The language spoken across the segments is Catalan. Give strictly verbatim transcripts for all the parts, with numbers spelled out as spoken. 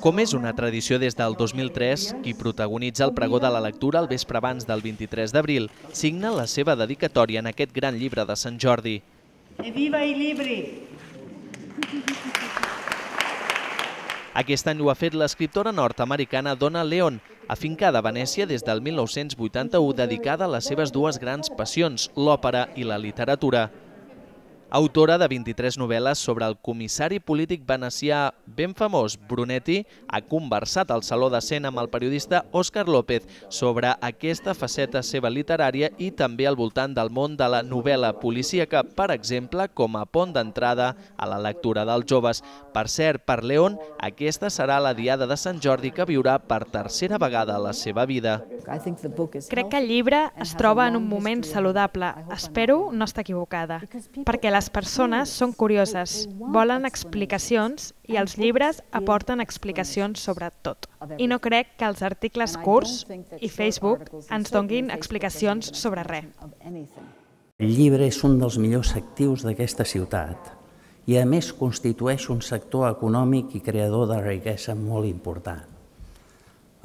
Com és una tradició des del dos mil tres, qui protagonitza el pregó de la lectura el vespre abans del vint-i-tres d'abril signa la seva dedicatòria en aquest gran llibre de Sant Jordi. Viva i llibre! Aquest any ho ha fet l'escriptora nord-americana Donna Leon, afincada a Venècia des del mil nou-cents vuitanta-u, dedicada a les seves dues grans passions, l'òpera i la literatura. Autora de vint-i-tres novel·les sobre el comissari polític venecià ben famós, Brunetti, ha conversat al Saló de Cent amb el periodista Òscar López sobre aquesta faceta seva literària i també al voltant del món de la novel·la policíaca, per exemple, com a pont d'entrada a la lectura dels joves. Per cert, per Leon, aquesta serà la diada de Sant Jordi que viurà per tercera vegada a la seva vida. Crec que el llibre es troba en un moment saludable. Espero no estar equivocada, perquè les persones són curioses, volen explicacions i els llibres aporten explicacions sobre tot. I no crec que els articles curts i Facebook ens donguin explicacions sobre res. El llibre és un dels millors actius d'aquesta ciutat i a més constitueix un sector econòmic i creador de riquesa molt important.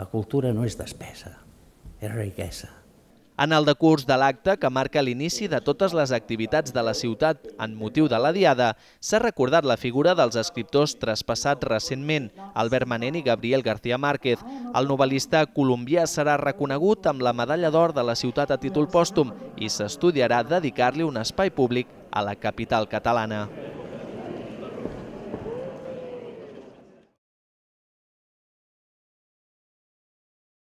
La cultura no és despesa, és riquesa. En el decurs de l'acte, que marca l'inici de totes les activitats de la ciutat en motiu de la Diada, s'ha recordat la figura dels escriptors traspassats recentment, Albert Manent i Gabriel García Márquez. El novel·lista colombià serà reconegut amb la Medalla d'Or de la ciutat a títol pòstum i s'estudiarà dedicar-li un espai públic a la capital catalana.